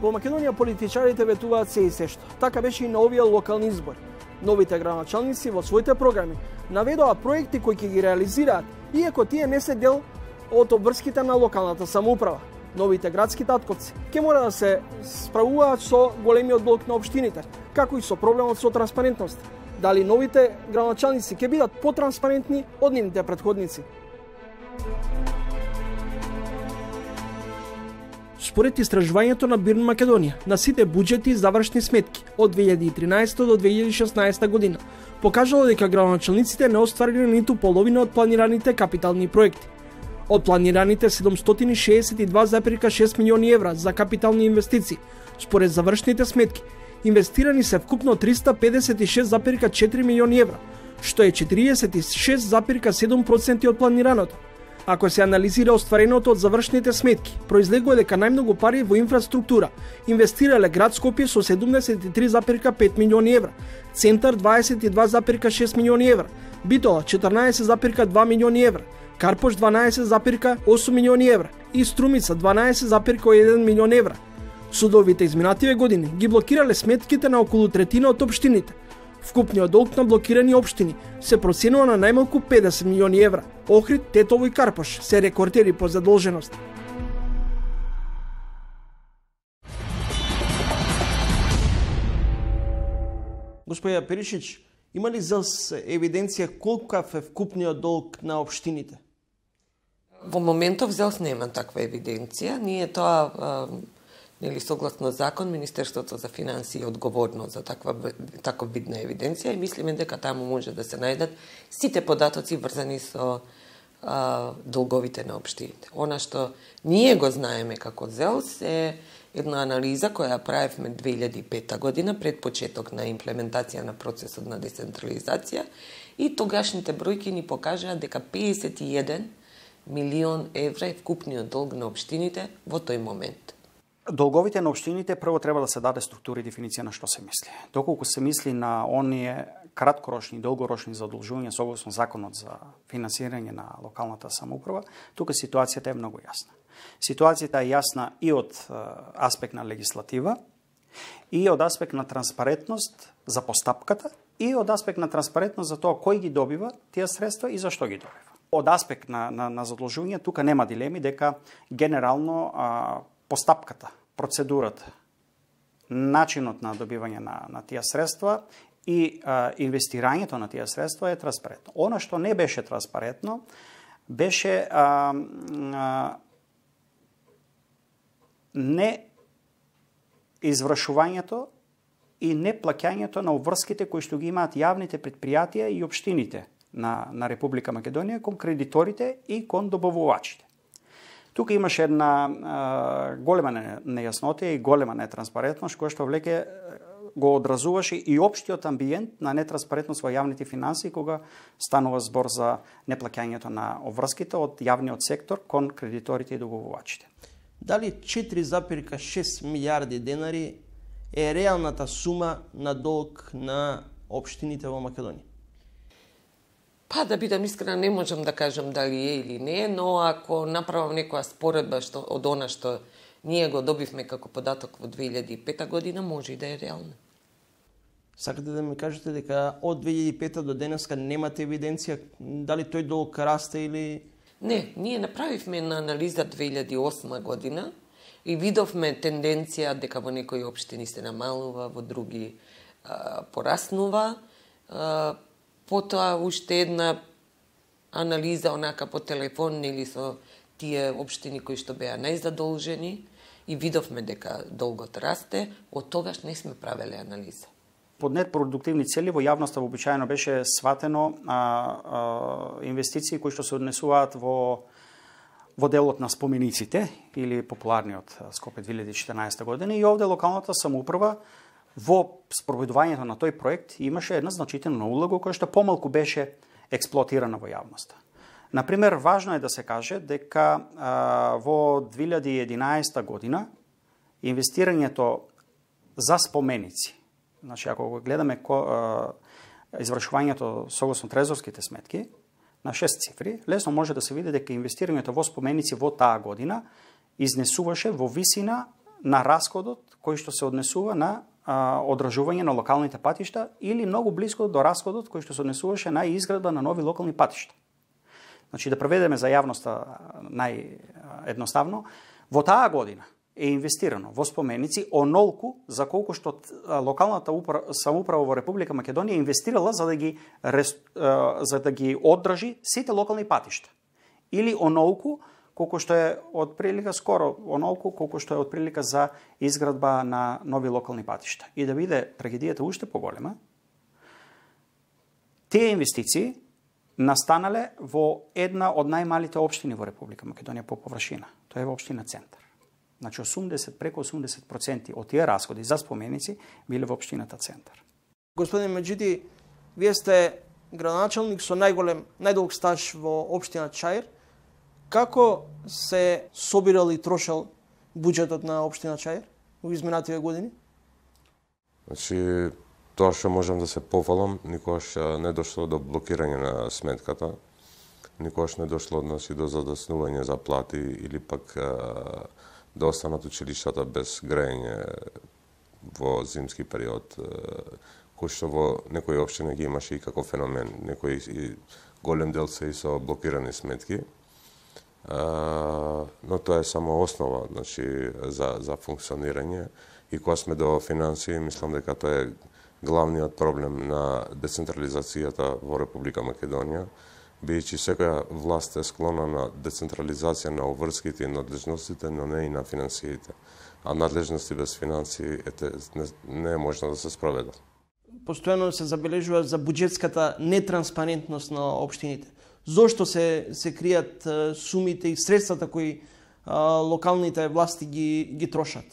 Во Македонија политичарите ветуваат се и сешто. Така беше и на овие локални избори. Новите градоначалници во своите програми наведоа проекти кои ќе ги реализираат, иако тие не се дел од обврските на локалната самоуправа. Новите градски татковци ќе мора да се справуваат со големиот долг на општините, како и со проблемот со транспарентност. Дали новите градоначалници ќе бидат потранспарентни од нивните претходници? Според истражувањето на Бирн Македонија, на сите буџети и завршни сметки од 2013 до 2016 година, покажало дека градоначалниците не оствариле ниту половина од планираните капитални проекти. Од планираните 762,6 милиони евра за капитални инвестиции, според завршните сметки, инвестирани се вкупно 356,4 милиони евра, што е 46,7% од планираното. Ако се анализира оствареното од завршните сметки, произлегува дека најмногу пари во инфраструктура инвестирале град Скопје со 73,5 милиони евра, Центар 22,6 милиони евра, Битола 14,2 милиони евра, Карпош 12,8 милиони евра и Струмица 12,1 милион евра. Судовите изминативе години ги блокирале сметките на околу третина од општините. Вкупниот долг на блокирани општини се проценува на најмалку 50 милиони евра. Охрид, Тетово и Карпош се рекордери по задолженост. Господја Перишич, има ли ЗЕЛС евиденција колкав е вкупниот долг на општините? Во моментов ЗЕЛС нема таква евиденција. Ние тоа нели согласно закон, Министерството за финансии е одговорно за таква видна евиденција и мислиме дека таму може да се најдат сите податоци врзани со долговите на општините. Она што ние го знаеме како ЗЕЛС е една анализа која правевме 2005 година пред почеток на имплементација на процесот на децентрализација и тогашните бројки ни покажаа дека 51 милион евра е вкупниот долг на општините во тој момент. Долговите на општините прво треба да се даде структура и дефиниција на што се мисли. Доколку се мисли на оние краткорочни и долгорочни задолжувања согласно законот за финансирање на локалната самоуправа, тука ситуацијата е многу јасна. Ситуацијата е јасна и од аспект на легислатива, и од аспект на транспарентност за постапката, и од аспект на транспарентност за тоа кој ги добива тие средства и зашто ги добива. Од аспект на задолжување тука нема дилеми дека генерално постапката, процедурата, начинот на добивање на тие средства и инвестирањето на тие средства е транспарентно. Она што не беше транспарентно беше не извршувањето и не плаќањето на обврските кои што ги имаат јавните предпријатија и општините на Република Македонија кон кредиторите и кон добавувачите. Тука имаше една голема нејаснотија и голема нетранспарентност која што влеке го одразуваше и општиот амбиент на нетранспарентност во јавните финансии кога станува збор за неплаќањето на обврските од јавниот сектор кон кредиторите и добавувачите. Дали 4,6 милиарди денари е реалната сума на долг на општините во Македонија? Па, да бидам искрена, не можам да кажам дали е или не, но ако направам некоја споредба од она што ние го добивме како податок во 2005 година, може и да е реална. Сакате да ми кажете дека од 2005 до денеска немате евиденција дали тој долг расте или... Не, ние направивме една анализа 2008 година и видовме тенденција дека во некои општини се намалува, во други пораснува. Потоа уште една анализа онака по телефон или со тие општини кои што беа најзадолжени и видовме дека долгот расте, од тогаш не сме правеле анализа. Под непродуктивни цели во јавноста вообичаено беше сватено инвестиции кои што се однесуваат во делот на спомениците или популарниот Скопје 2014 година и овде локалната самоуправа во спроведувањето на тој проект имаше една значителна улога која што помалку беше експлоатирана во јавноста. Например, важно е да се каже дека во 2011 година инвестирањето за споменици, значи ако го гледаме извршувањето согласно трезорските сметки на 6 цифри, лесно може да се види дека инвестирањето во споменици во таа година изнесуваше во висина на расходот кој што се однесува на одржување на локалните патишта или многу близко до расходот кој што се однесуваше на изградба на нови локални патишта. Значи да преведеме за јавноста наједноставно, во таа година е инвестирано во споменици онолку за колку што локалната самоуправа во Република Македонија инвестирала за да ги оддржи сите локални патишта. Или онолку колку што е од прилика скоро онолку колку што е од прилика за изградба на нови локални патишта. И да биде трагедијата уште поголема, тие инвестиции настанале во една од најмалите општини во Република Македонија по површина. Тоа е во општина Центар. Значи преку 80% од тие расходи за споменици биле во општината Центар. Господин Меджиди, вие сте градоначалник со најдолг стаж во општина Чаир. Како се собирал и трошал буџетот на општина Чаир во изминативе години? Значи, тоа што можам да се пофалам, никогаш не дошло до блокирање на сметката, никогаш не дошло до задаснување за плати или пак да останат училиштата без грејење во зимски период, кој што во некои општини ги имаше и како феномен. Некои и голем дел се и со блокирани сметки. Но тоа е само основа, значи, за функционирање. И кога сме до финансии, мислам дека тоа е главниот проблем на децентрализацијата во Република Македонија, бидејќи секоја власт е склона на децентрализација на обврските и надлежностите, но не и на финансиите. А надлежности без финансии не е можно да се спроведат. Постојано се забележува за буџетската нетранспарентност на општините. Зошто се кријат сумите и средствата кои локалните власти ги трошат?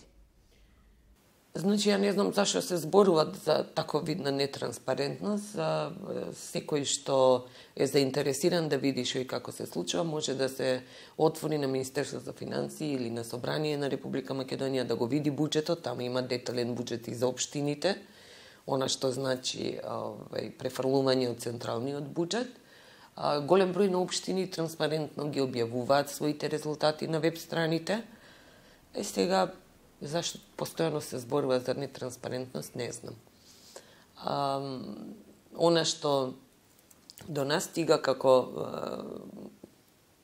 Значи, ја не знам зашто се зборуваат за таков вид на нетранспарентност. Секој што е заинтересиран да види што и како се случува, може да се отвори на Министерство за финансии или на Собрание на Република Македонија да го види буџетот. Тamo има детален буџет и за општините, она што значи префрлување од централниот буџет. Голем број на општини транспарентно ги објавуваат своите резултати на веб страните. Сега, зашто постојано се зборува за нетранспарентност, не знам. Она што до нас стига како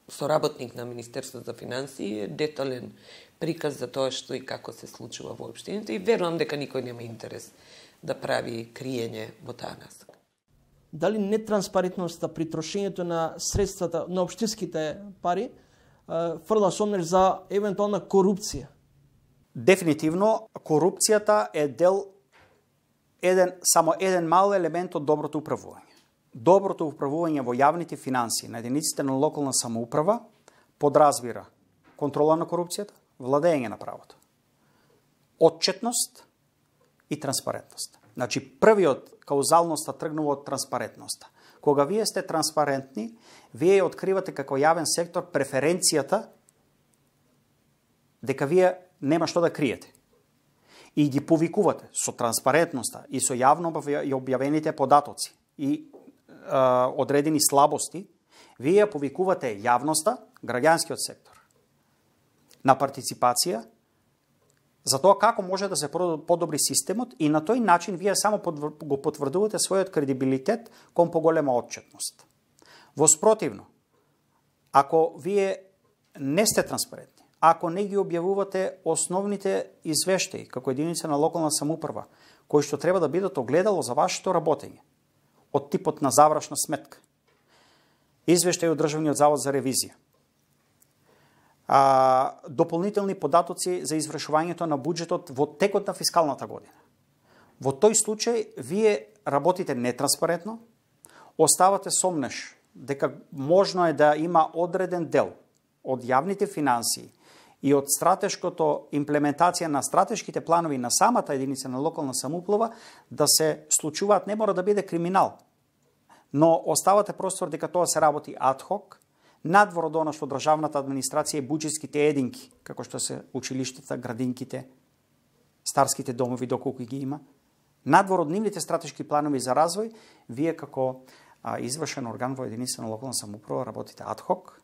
соработник на Министерство за финансии е детален приказ за тоа што и како се случува во општините и верувам дека никој нема интерес да прави криење во таа насока. Дали нетранспарентноста при трошењето на средствата на општинските пари фрла сомнеш за евентуална корупција? Дефинитивно, корупцијата е само еден мал елемент од доброто управување. Доброто управување во јавните финансии на единиците на локална самоуправа подразбира контрола на корупцијата, владење на правото, отчетност и транспарентност. Значи, првиот каузалноста тргнува од транспарентноста. Кога вие сте транспарентни, вие откривате како јавен сектор преференцијата дека вие нема што да криете. И ги повикувате со транспарентноста и со јавно објавените податоци и одредени слабости, вие повикувате јавноста, граѓанскиот сектор, на партиципација, за тоа како може да се подобри системот и на тој начин вие само го потврдувате својот кредибилитет кон поголема отчетност. Во спротивно, ако вие не сте транспарентни, ако не ги објавувате основните извештаи како единица на локална самоуправа, кои што треба да бидат огледало за вашето работење, од типот на завршна сметка, извештаи од Државниот завод за ревизија, дополнителни податоци за извршувањето на буџетот во текот на фискалната година. Во тој случај, вие работите нетранспарентно, оставате сомнеш дека можно е да има одреден дел од јавните финансии и од стратешкото имплементација на стратешките планови на самата единица на локална самоуправа да се случуваат, не мора да биде криминал, но оставате простор дека тоа се работи адхок, надвор од она што државната администрација и буџетските единки, како што се училиштата, градинките, старските домови, доколку ги има, надвор од нивните стратешки планови за развој, вие како извршен орган во единица на локална самоуправа работите адхок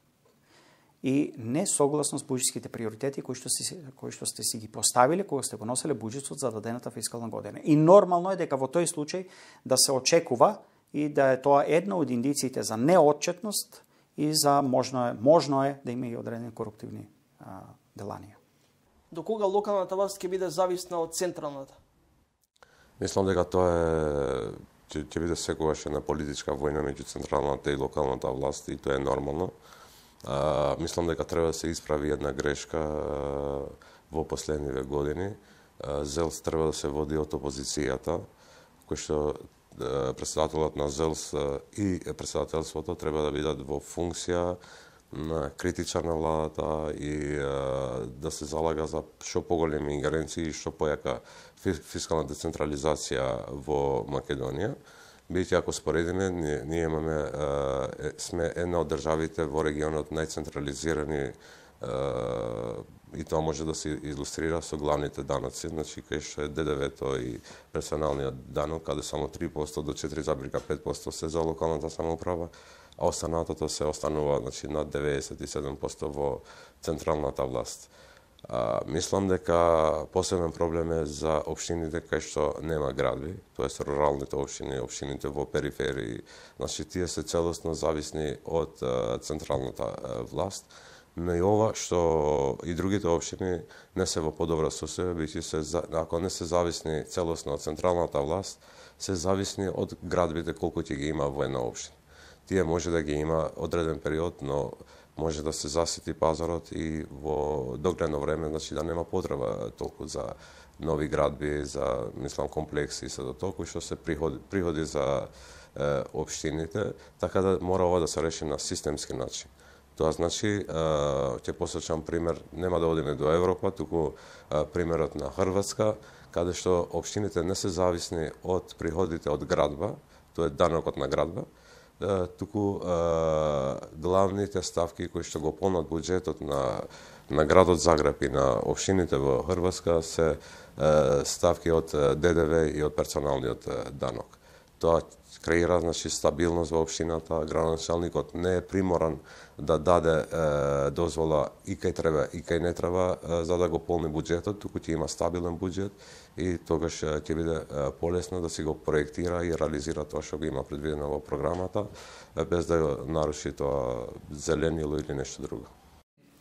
и не согласно с буџетските приоритети кои што сте си ги поставиле кога сте го носеле буџетот за дадената фискална година. И нормално е дека во тој случај да се очекува и да е тоа една од индициите за неотчетност и за можно е да има и одредени коруптивни деланија. До кога локалната власт ќе биде зависна од централната? Мислам дека тоа ќе биде секогаш една политичка војна меѓу централната и локалната власт и тоа е нормално. Мислам дека треба да се исправи една грешка во последниве години. ЗЕЛС треба да се води од опозицијата, кој што председателот на ЗЕЛС и председателството треба да бидат во функција на критичар на владата и да се залага за што поголеми ингеренции и што појака фискална децентрализација во Македонија. Бидејќи ако споредиме, ние имаме сме една од државите во регионот најцентрализирани и тоа може да се илустрира со главните даноци, значи кај што е ДДВ-то и персоналниот данок, каде само 3% до 4,5% се за локалната самоуправа, а останатото се останува значи над 97% во централната власт. Мислам дека посебен проблем е за општините кај што нема градби, тоест руралните општини, општините во периферии, значи тие се целосно зависни од централната власт. Но и ова што и другите општини не се во подобра состојба, бидејќи ако не се зависни целосно од централната власт, се зависни од градбите колку ќе ги има во една општина. Тие може да ги има одреден период, но може да се засити пазарот и во догледно време, значи да нема потреба толку за нови градби, за мислам комплекси и се до толку што се приходи за општините, така да мора ова да се реши на системски начин. Тоа значи, ќе посочам пример, нема да одиме до Европа, туку примерот на Хрватска, каде што општините не се зависни од приходите од градба, тоа е данокот на градба, туку главните ставки кои што го полнат буџетот на градот Загреб и на општините во Хрватска се ставки од ДДВ и од персоналниот данок. Тоа креира значи стабилност во општината, градоначалникот не е приморан да даде дозвола и кај треба и кај не треба за да го полни буџетот, туку ќе има стабилен буџет и тогаш ќе биде полесно да си го проектира и реализира тоа што го има предвидено во програмата, без да го наруши тоа зеленило или нешто друго.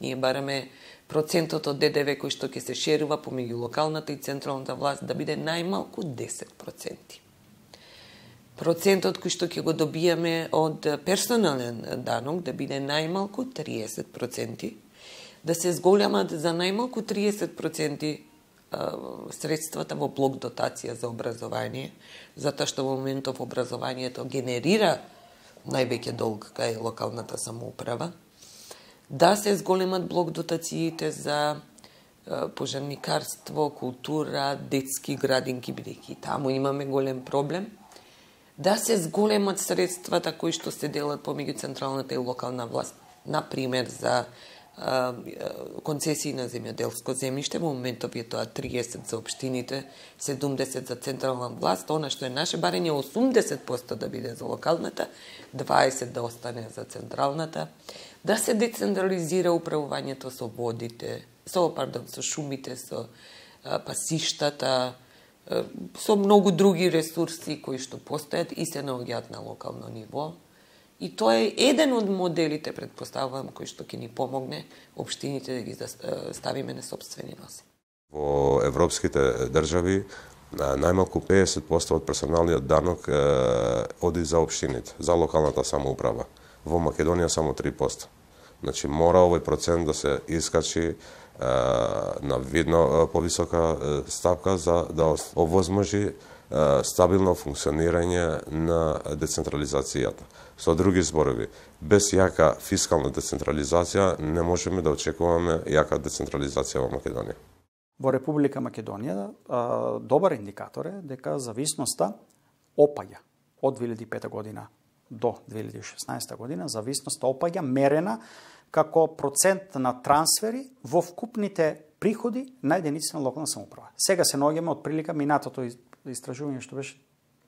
Ние бараме процентот од ДДВ кој што ќе се шерува помеѓу локалната и централната власт да биде најмалку 10%. Процентот кој што ќе го добијаме од персонален данок да биде најмалку 30%, да се зголемат за најмалку 30% средствата во блок дотација за образование, затоа што во моментов образованието генерира највеќе долг кај локалната самоуправа, да се зголемат блок дотациите за пожарникарство, култура, детски градинки, бидејќи таму имаме голем проблем, да се зголемат средствата кои што се делат помеѓу централната и локална власт, например за концесии на земјоделско земјиште, во моментов е тоа 30 за општините, 70 за централна власт, она што е наше барење 80% да биде за локалната, 20 да остане за централната, да се децентрализира управувањето со водите, со шумите, со пасиштата, со многу други ресурси кои што постојат и се наоѓаат на локално ниво. И тоа е еден од моделите, предпоставувам, кој што ќе ни помогне општините да ги ставиме на сопствени носи. Во европските држави најмалку 50% од персоналниот данок оди за општините, за локалната самоуправа. Во Македонија само 3%. Значи мора овој процент да се искачи на видно повисока ставка за да овозможи стабилно функционирање на децентрализацијата. Со други зборови, без јака фискална децентрализација не можеме да очекуваме јака децентрализација во Македонија. Во Република Македонија добар индикатор е дека зависноста опаѓа од 2005 година до 2016 година, зависноста опаѓа мерена како процент на трансфери во вкупните приходи на единици на локална самоуправа. Сега се наоѓаме од прилика минатото истражување што беше,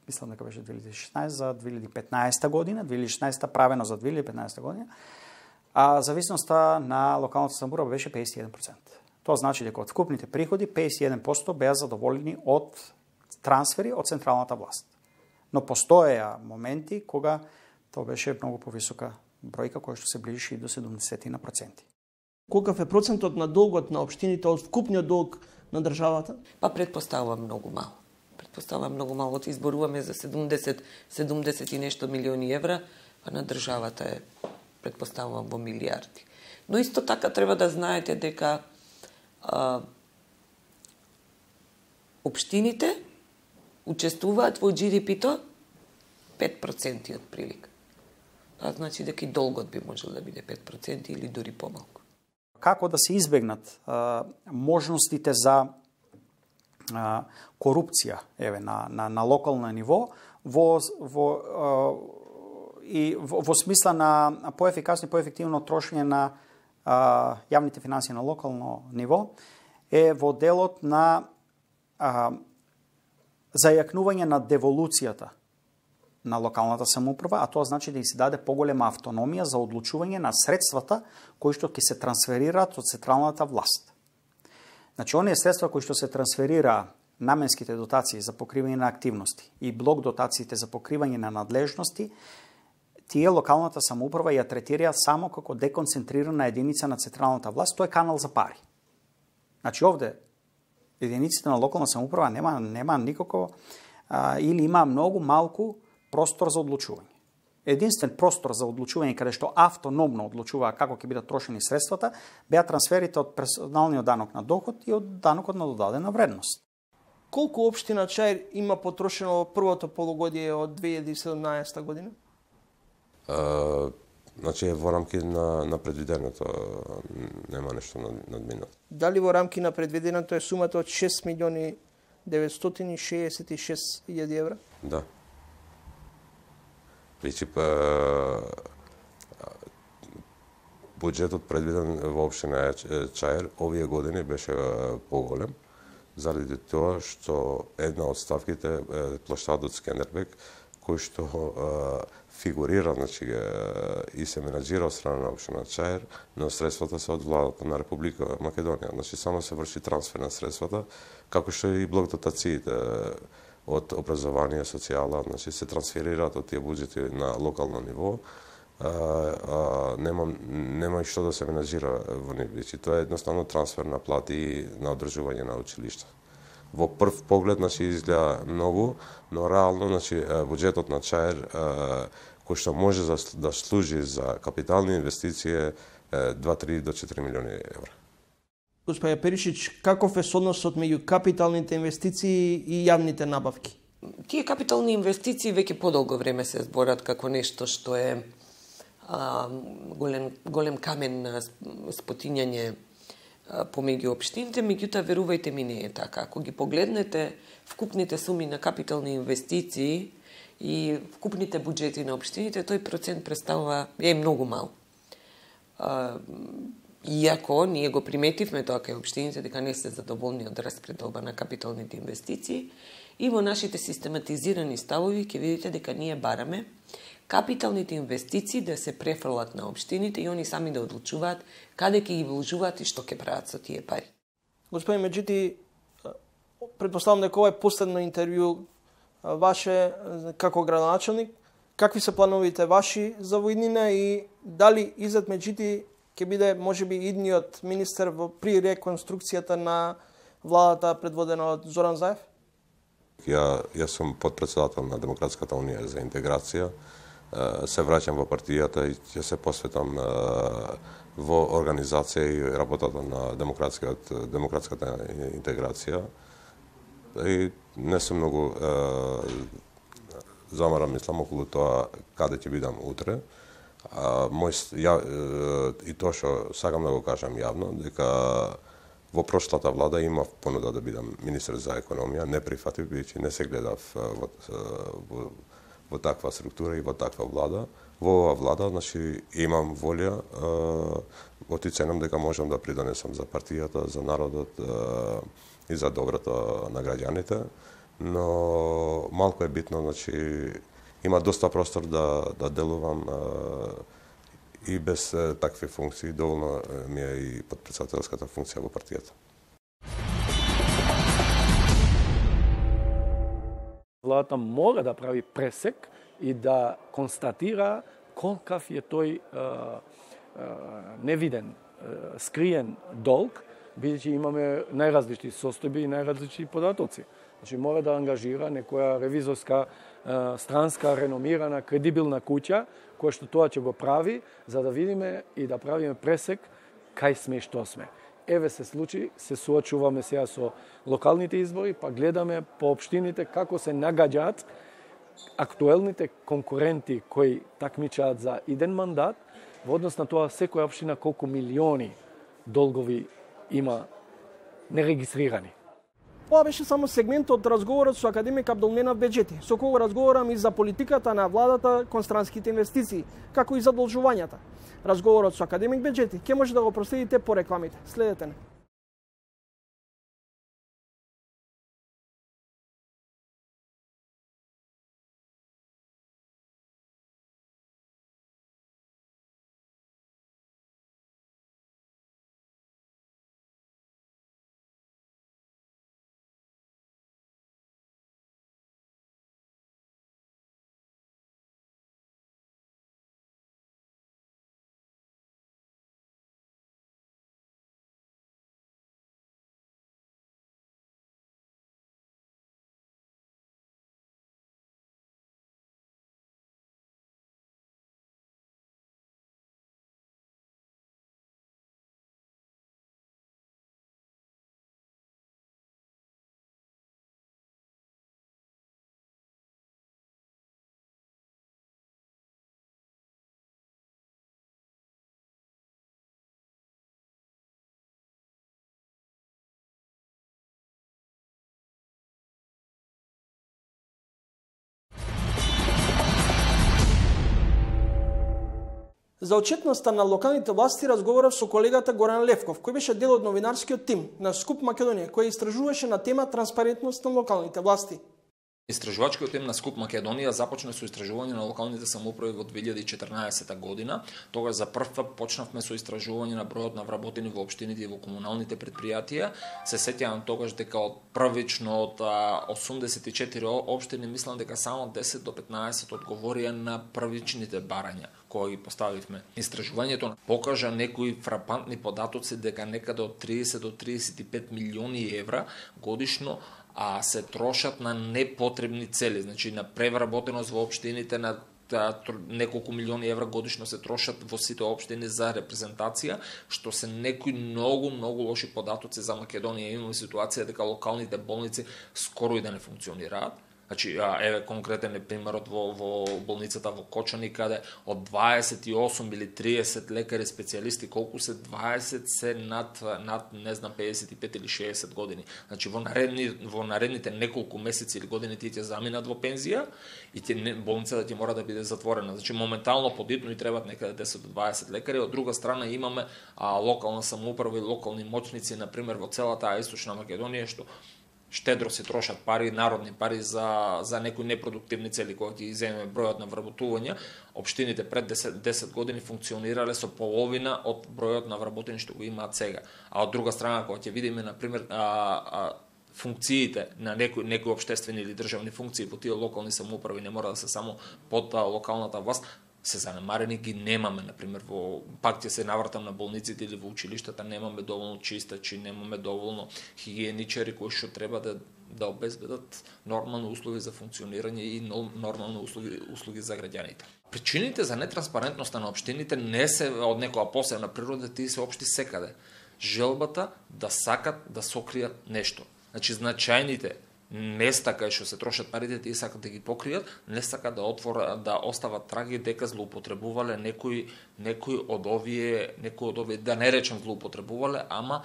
мислам дека беше 2016 за 2015 година, 2016 правено за 2015 година, а зависноста на локалната самоуправа беше 51%. Тоа значи дека од вкупните приходи 51% беа задоволени од трансфери од централната власт. Но постоеа моменти кога тоа беше многу повисока бројка која што се ближеше и до 70%. Колкав е процентот на долгот на општините од вкупниот долг на државата? Па предпоставувам многу мало. Предпоставувам многу мало. Изборуваме за 70 и нешто милиони евра, а на државата е предпоставувам во милиарди. Но исто така треба да знаете дека општините учествуваат во GDP-то 5% од прилика. Тоа значи дека и долгот би можел да биде 5% или дури помалку. Како да се избегнат можностите за корупција на локално ниво во смисла на поефикасно и поефективно трошење на јавните финансии на локално ниво е во делот на зајакнување на деволуцијата на локалната самоуправа, а тоа значи да им се даде поголема автономија за одлучување на средствата кои што ќе се трансферираат од централната власт. Значи, оние средства кои што се трансферира наменските дотации за покривање на активности и блок дотациите за покривање на надлежности, тие локалната самоуправа ја третира само како деконцентрирана единица на централната власт, тоа е канал за пари. Значи, овде единиците на локална самоуправа нема никако или има многу малку простор за одлучување. Единствен простор за одлучување каде што автономно одлучува како ќе бидат трошени средствата, беа трансферите од персоналниот данок на доход и од данокот на додадена вредност. Колку општина Чаир има потрошено во првото полугодие од 2017 година? Значи е во рамки на предвиденото, нема нешто надминато. Дали во рамки на предвиденото е сумата од 6 милиони 966 илјади евра? Да. Значи, буџетот предвиден во општина Чаир овие години беше поголем, заради тоа што една од ставките е плоштадот Скендербек, кој што фигурира, значи, и се менаџира од страна на општина Чаир, но средствата се од владата на Република Македонија. Значи, само се врши трансфер на средствата, како што и блок дотациите од образование, социјала, значи, се трансферираат од тие буџети на локално ниво, нема и што да се менаџира во нив. Тоа е едноставно трансфер на плати и на одржување на училишта. Во прв поглед, значи, изгледа многу, но реално, значи, буџетот на Чаир, кој што може да служи за капитални инвестиции, 2-3 до 4 милиони евра. Господине Перишич, каков е односот меѓу капиталните инвестиции и јавните набавки? Тие капитални инвестиции веќе подолго време се зборат како нешто што е голем камен на спотињање помеѓу општините, меѓутоа верувајте ми не е така. Ако ги погледнете вкупните суми на капитални инвестиции и вкупните буџети на општините, тој процент представува е многу мал. Иако ние го приметивме тоа кај општините дека не се задоволни од распределба на капиталните инвестиции и во нашите систематизирани ставови ќе видите дека ние бараме капиталните инвестиции да се префрлат на општините и они сами да одлучуваат каде ќе ги вложуваат и што ќе прават со тие пари. Господин Меджити, претпоставам дека ова е последно интервју ваше како градоначелник. Какви се плановите ваши за во иднина и дали Изет Меджити ќе биде можеби идниот министер при реконструкцијата на владата предводена од Зоран Заев? Јас сум подпредседател на Демократската унија за интеграција. Се враќам во партијата и ќе се посветам во организација и работата на демократската интеграција. И не сум многу замаран, мислам, околу тоа каде ќе бидам утре. И тоа што сакам да го кажам јавно, дека во прошлата влада имав понуда да бидам министер за економија, не прифатив, бидејќи не се гледав во таква структура и во таква влада. Во оваа влада, значи, имам волја, оценам дека можам да придонесам за партијата, за народот и за доброто на граѓаните, но малку е битно, значи, има доста простор да делувам И без такви функции доволно ми е и подпредседателската функција во партијата. Владата мора да прави пресек и да констатира колкав е тој невиден, скриен долг, бидејќи имаме најразлични состојби и најразлични податоци. Значи мора да ангажира некоја ревизорска, странска, реномирана, кредибилна куќа, која што тоа ќе го прави, за да видиме и да правиме пресек кај сме и што сме. Еве се случи, се соочуваме сега со локалните избори, па гледаме по општините како се нагаѓаат актуелните конкуренти кои такмичаат за иден мандат, во однос на тоа секоја општина колку милиони долгови има нерегистрирани. Ова беше само сегмент од разговорот со академик Абдулменав Беџети, со кого разговарам и за политиката на владата кон странските инвестиции, како и задолжувањата. Разговорот со академик Беџети ќе може да го проследите по рекламите. Следете не. За отчетноста на локалните власти разговарав со колегата Горан Левков, кој беше дел од новинарскиот тим на Скуп Македонија, кој истражуваше на тема транспарентност на локалните власти. Истражувачкиот тим на Скуп Македонија започна со истражување на локалните самоуправи во 2014 година. Тогаш за прв пат почнавме со истражување на бројот на вработени во општините и во комуналните предпријатија. Се сеќавам тогаш дека од првично од 84 општини мислам дека само 10 до 15 одговорија на првичните барања кои ги поставивме. Истражувањето покажа некои фрапантни податоци дека некаде од 30 до 35 милиони евра годишно се трошат на непотребни цели, значи на превработеност во општините, на неколку милиони евра годишно се трошат во сите општини за репрезентација, што се некои многу лоши податоци за Македонија. Имаме ситуација дека локалните болници скоро и да не функционираат. Значи, еве конкретен е примерот во болницата во Кочани, каде од 28 или 30 лекари специјалисти, колку се 20 се над не знам 55 или 60 години. Значи во наредните неколку месеци или години тие ќе заминат во пензија и болницата ќе мора да биде затворена. Значи моментално подитно и требаат некаде 10 до 20 лекари. Од друга страна имаме локална самоуправа и локални моќници, на пример во целата источна Македонија, што штедро се трошат пари, народни пари за некои непродуктивни цели, кога ќе иземеме бројот на вработувања. Општините пред 10 години функционирале со половина од бројот на вработени што го имаат сега. А од друга страна, кога ќе видиме на пример функциите на некои општествени или државни функции во тие локални самоуправи, не мора да се само под локалната власт, се занемарени, ги немаме, например, пак ќе се навратам на болниците или во училиштата, немаме доволно чистачи, немаме доволно хигиеничари кои што треба да обезбедат нормални услови за функционирање и нормални услуги за граѓаните. Причините за нетранспарентноста на општините не се од некоја посебна природа, тие се општи секаде. Желбата да сакат да сокријат нешто. Значи, значајните места кај што се трошат парите, тие сакат да ги покријат, не сакат да остават траги дека злоупотребувале некои од овие, да не речем злоупотребувале, ама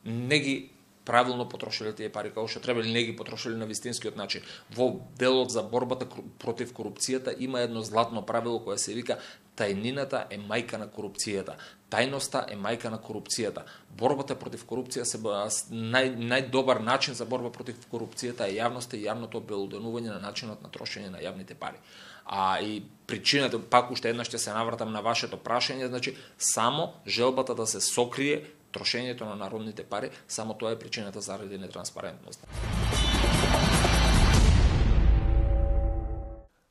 не ги правилно потрошиле тие пари како што треба, или не ги потрошиле на вистинскиот начин. Во делот за борбата против корупцијата има едно златно правило кое се вика тајнината е мајка на корупцијата. Тајноста е мајка на корупцијата. Борбата против корупција најдобар начин за борба против корупцијата е јавноста и јавното обелоденување на начинот на трошење на јавните пари. И причината, пак уште еднаш ќе се навратам на вашето прашање, значи само желбата да се сокрие трошењето на народните пари, само тоа е причината заради нетранспарентност.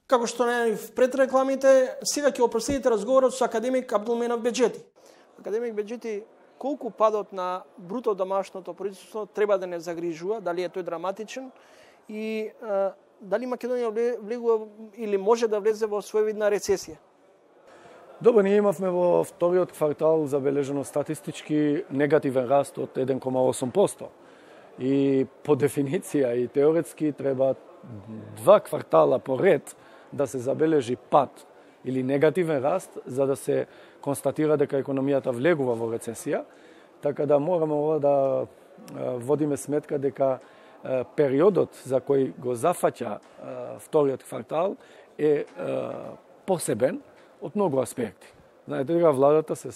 Како што најавив пред рекламите, сега ќе опростите разговорот со академик Абдулменов Беџети. Академик Беџети, колку падот на бруто домашното производство треба да не загрижува, дали е тој драматичен и дали Македонија влегува или може да влезе во своевидна рецесија? Добро, ние имавме во вториот квартал забележено статистички негативен раст од 1,8%. И по дефиниција и теоретски треба 2 квартала поред да се забележи пад или негативен раст за да се констатира дека економијата влегува во рецесија. Така да мораме ова да водиме сметка дека периодот за кој го зафаќа вториот квартал е посебен од многу аспекти. Знаете дека владата се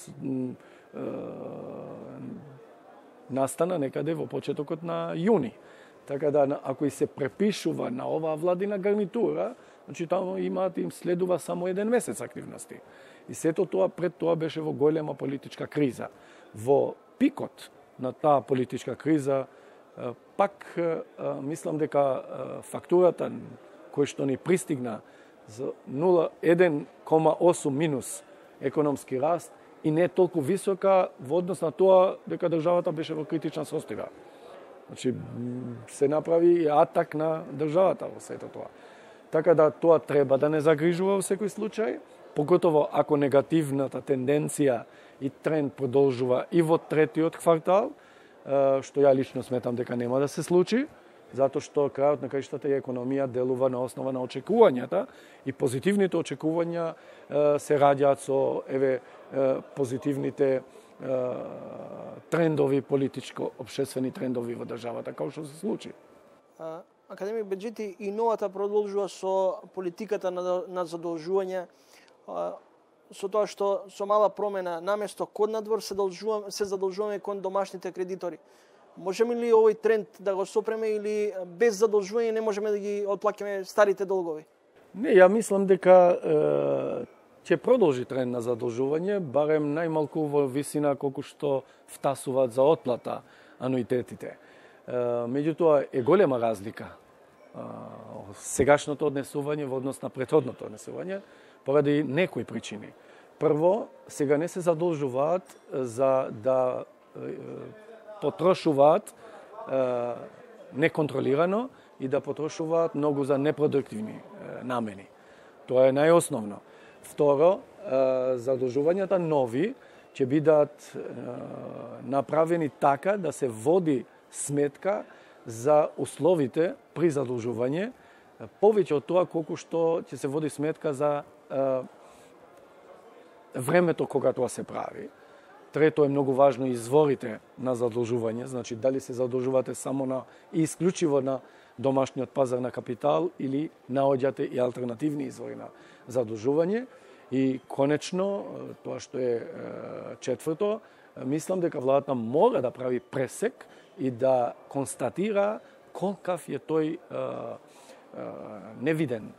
настана некаде во почетокот на јуни. Така да ако и се препишува на оваа владина гарнитура, значи таму им следува само 1 месец активности. И сето тоа пред тоа беше во голема политичка криза. Во пикот на таа политичка криза пак мислам дека фактурата која што ни пристигна за 1,8 минус економски раст и не толку висока во однос на тоа дека државата беше во критична состојба. Значи се направи и атак на државата во сето тоа. Така да тоа треба да не загрижува во секој случај, поготово ако негативната тенденција и тренд продолжува и во третиот квартал, што ја лично сметам дека нема да се случи, затоа што крајот на краиштата и економија делува на основа на очекувањата и позитивните очекувања се раѓаат со позитивните трендови, политичко-обшествени трендови во државата, како што се случи. Академик Беџети, и новата продолжува со политиката на задолжување, со тоа што со мала промена наместо код надвор се задолжуваме кон домашните кредитори. Можеме ли овој тренд да го сопреме или без задолжување не можеме да ги отплакаме старите долгови? Не, ја мислам дека ќе продолжи тренд на задолжување, барем најмалку во висина колку што втасуваат за отплата ануитетите. Меѓутоа е голема разлика сегашното однесување во однос на претходното однесување поради некои причини. Прво, сега не се задолжуваат за да потрошуваат неконтролирано и да потрошуваат многу за непродуктивни намени. Тоа е најосновно. Второ, задолжувањата нови ќе бидат направени така да се води сметка за условите при задолжување, повеќе од тоа колку што ќе се води сметка за времето кога тоа се прави. Трето е многу важно изворите на задолжување, значи дали се задолжувате само на и исклучиво на домашниот пазар на капитал или наоѓате и алтернативни извори на задолжување. И конечно, тоа што е четврто, мислам дека владата мора да прави пресек и да констатира колкав е тој невиден,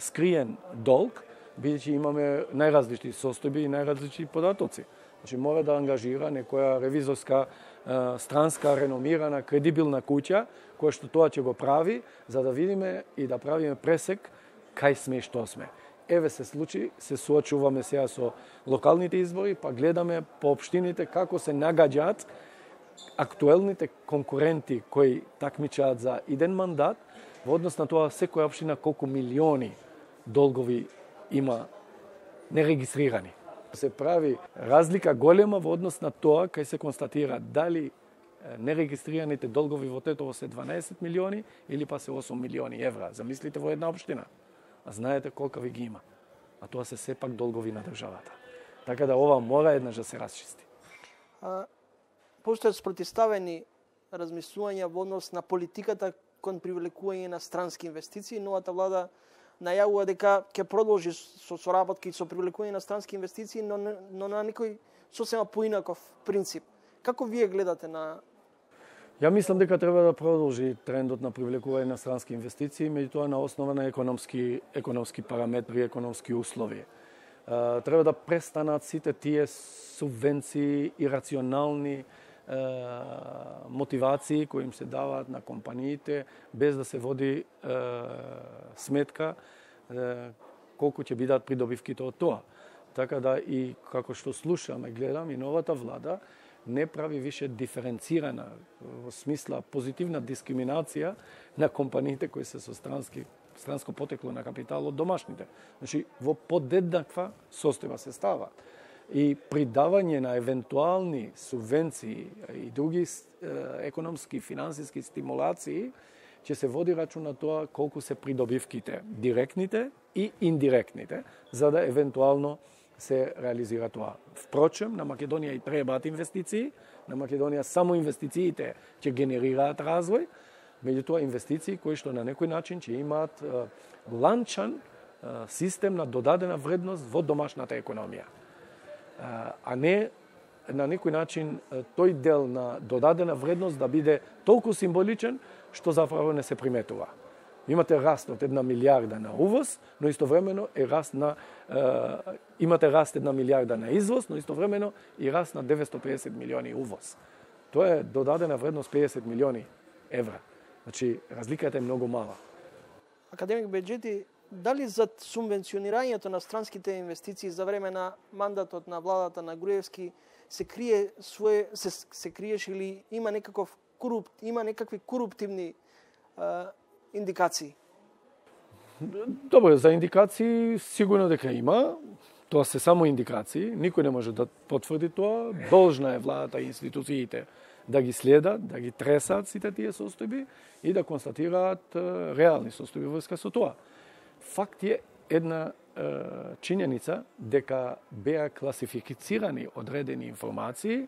скриен долг, бидејќи имаме најразлични состојби и најразлични податоци. Значи мора да ангажира некоја ревизорска, странска, реномирана, кредибилна куќа, која што тоа ќе го прави, за да видиме и да правиме пресек кај сме и што сме. Еве се случи, се соочуваме сега со локалните избори, па гледаме по општините како се нагаѓаат актуелните конкуренти кои такмичаат за иден мандат, во однос на тоа секоја општина колку милиони долгови има нерегистрирани. Се прави разлика голема во однос на тоа кај се констатира дали нерегистрираните долгови во Тетово се 12 милиони или па се 8 милиони евра. Замислите во една општина. А знаете колка ви ги има. А тоа се сепак долгови на државата. Така да ова мора еднаш да се расчисти. Постојат спротивставени размислувања во однос на политиката кон привлекување на странски инвестиции. Новата влада најавува дека ќе продолжи со соработки со привлекување на странски инвестиции, но на некој сосема поинаков принцип. Како вие гледате на Ја мислам дека треба да продолжи трендот на привлекување на странски инвестиции, меѓутоа на основа на економски параметри, економски услови. Треба да престанат сите тие субвенции и рационални мотивации кои им се даваат на компаниите без да се води сметка колку ќе бидат придобивките од тоа. Така да и како што слушам и гледам, и новата влада не прави више диференцирана во смисла позитивна дискриминација на компаниите кои се со странско потекло на капитал од домашните. Значи, во подеднаква состојба се става. И придавање на евентуални субвенции и други економски, финансиски стимулации ќе се води рачун на тоа колку се придобивките, директните и индиректните, за да евентуално се реализира тоа. Впрочем, на Македонија и требаат инвестиции, на Македонија само инвестициите ќе генерираат развој, меѓутоа инвестиции кои што на некој начин ќе имаат ланчан систем на додадена вредност во домашната економија. А не на некој начин тој дел на додадена вредност да биде толку символичен што заправо не се приметува. Имате раст од 1 милиарда на увоз, но истовремено е раст на имате раст 1 милиарда на извоз, но истовремено и раст на 950 милиони увоз. Тоа е додадена вредност 50 милиони евра. Значи, разликата е многу мала. Академик Беџети, дали зад субвенционирањето на странските инвестиции за време на мандатот на владата на Груевски се криеш или има некакви коруптивни индикации? Добро, за индикации сигурно дека има. Тоа се само индикации, никој не може да потврди тоа. Должна е владата и институциите да ги следат, да ги тресаат сите тие состојби и да констатираат реални состојби врска со тоа. Факт е една чинјеница дека беа класифицирани одредени информации,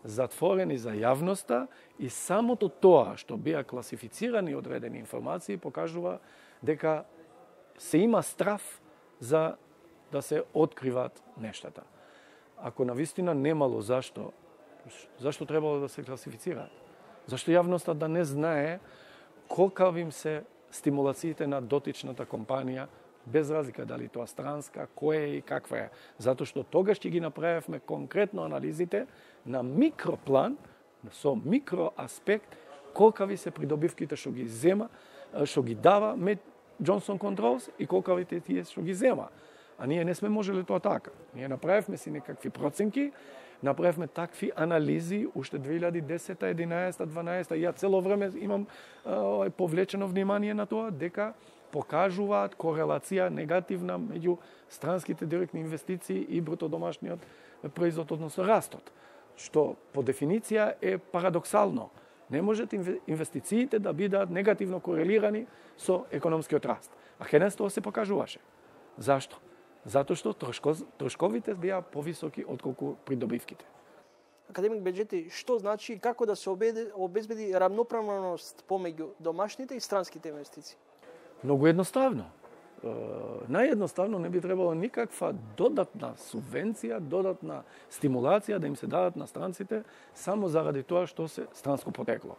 затворени за јавноста и самото тоа што беа класифицирани одредени информации покажува дека се има страв за да се откриваат нештата. Ако навистина немало зашто требало да се класифицираат? Зашто јавноста да не знае колкави им се стимулациите на дотичната компанија, без разлика дали тоа странска, која е и каква е. Затоа што тогаш ќе ги направевме конкретно анализите на микроплан, со микроаспект, колкави се придобивките што ги зема, што ги дава Johnson Controls и колкавите тие што ги зема. А ние не сме можеле тоа така. Ние направивме си некакви проценки, направивме такви анализи уште 2010, 11, 12. Ја цело време имам повлечено внимание на тоа дека покажуваат корелација негативна меѓу странските директни инвестиции и бруто домашниот производ, односно растот. Што по дефиниција е парадоксално. Не можат инвестициите да бидат негативно корелирани со економскиот раст. А хенес тоа се покажуваше. Зашто? Затоа што трошковите беа повисоки отколку придобивките. Академик Беџети, што значи како да се обезбеди рамноправност помеѓу домашните и странските инвестиции? Многу едноставно. Наједноставно не би требало никаква додатна субвенција, додатна стимулација да им се дадат на странците само заради тоа што се странско потекло.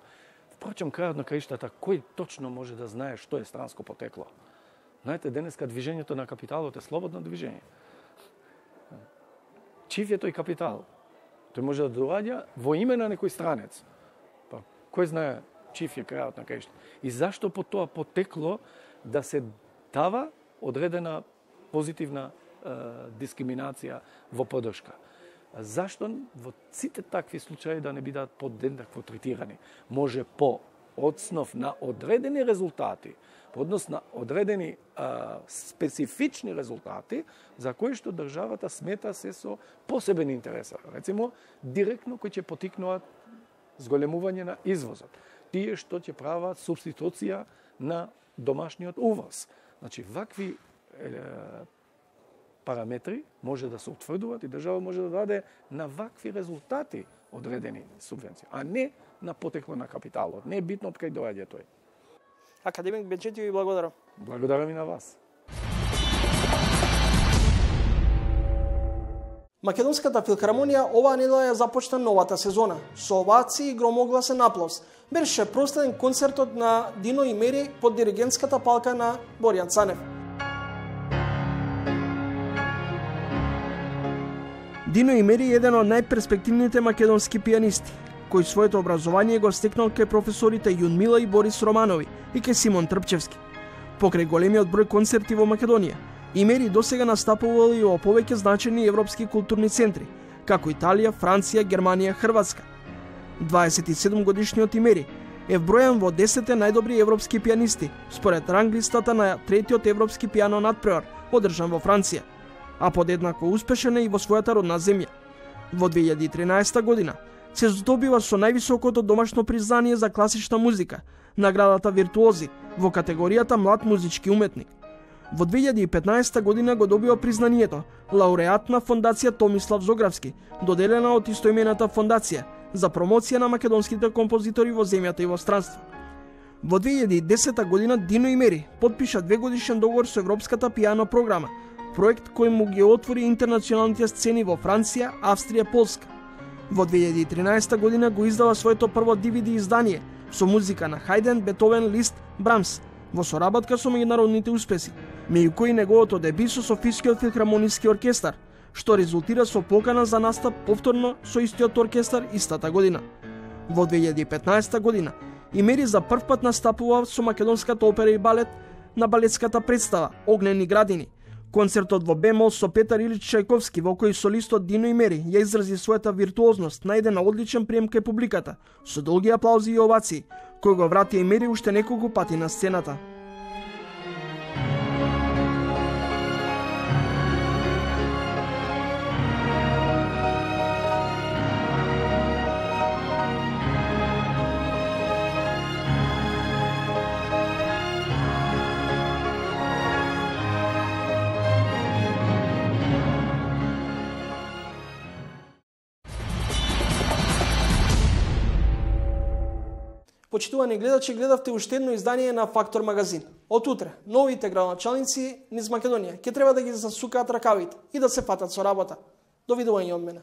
Впрочем, крајот на краиштата, кој точно може да знае што е странско потекло? Знаете, денеска движењето на капиталот е слободно движење. Чив е тој капитал? Тој може да доаѓа во име на некој странец. Па, кој знае чив е крајот на краиштата? И зашто по тоа потекло да се дава одредена позитивна дискриминација во поддршка? Зашто во сите такви случаи да не бидат подеднакво третирани? Може по одснов на одредени резултати, по однос на одредени специфични резултати за кои што државата смета се со посебен интерес. Рецимо, директно кои ќе потикнуваат зголемување на извозот. Тие што ќе прават субституција на домашниот увоз. Значи, вакви параметри може да се утврдуваат и држава може да даде на вакви резултати одредени субвенции, а не на потекло на капиталот. Не е битно од кај доаѓа тој. Академик Беџети, ви благодарам. Благодарам и на вас. Македонската филхармонија оваа недела ја започна новата сезона. Со овации и громогласен аплауз беше прославен концертот на Дино и Мери под диригентската палка на Боријан Цанев. Дино и Мери е еден од најперспективните македонски пианисти, кој своето образование го стекнал кај професорите Јунмила и Борис Романови и кај Симон Трпчевски. Покрај големиот број концерти во Македонија, и Мери досега настапувал и во повеќе значени европски културни центри, како Италија, Франција, Германија, Хрватска. 27 годишниот Имери е вбројан во 10 најдобри европски пианисти, според ранглистата на третиот европски пиано надпревар, одржан во Франција, а подеднако успешен е и во својата родна земја. Во 2013 година се здобива со највисокото домашно признание за класична музика, наградата Виртуози, во категоријата Млад музички уметник. Во 2015 година го добива признанието лауреат на Фондација Томислав Зографски, доделена од истоимената фондација за промоција на македонските композитори во земјата и во странство. Во 2010 година Дино и Мери потпиша 2-годишен договор со Европската пиано програма, проект кој му ги отвори интернационалните сцени во Франција, Австрија, Полска. Во 2013 година го издава своето прво DVD издание со музика на Хајден, Бетовен, Лист, Брамс, во соработка со меѓународните успеси, меѓу кои неговото деби со Софискиот филхармониски оркестар, што резултира со покана за настап повторно со истиот оркестар истата година. Во 2015 година Имери за прв пат настапува со македонската опера и балет на балетската представа Огнени градини. Концертот во бемол со Петар Илич Чајковски, во кој солистот Дино и Мери ја изрази својата виртуозност, најде на одличен прием кај публиката, со долги аплаузи и овации, кој го врати и Мери уште неколку пати на сцената. Почитувани гледачи, гледавте уште едно издание на Фактор магазин. Од утре, новите градоначалници низ Македонија ќе треба да ги засукаат ракавите и да се фатат со работа. Довидување од мене.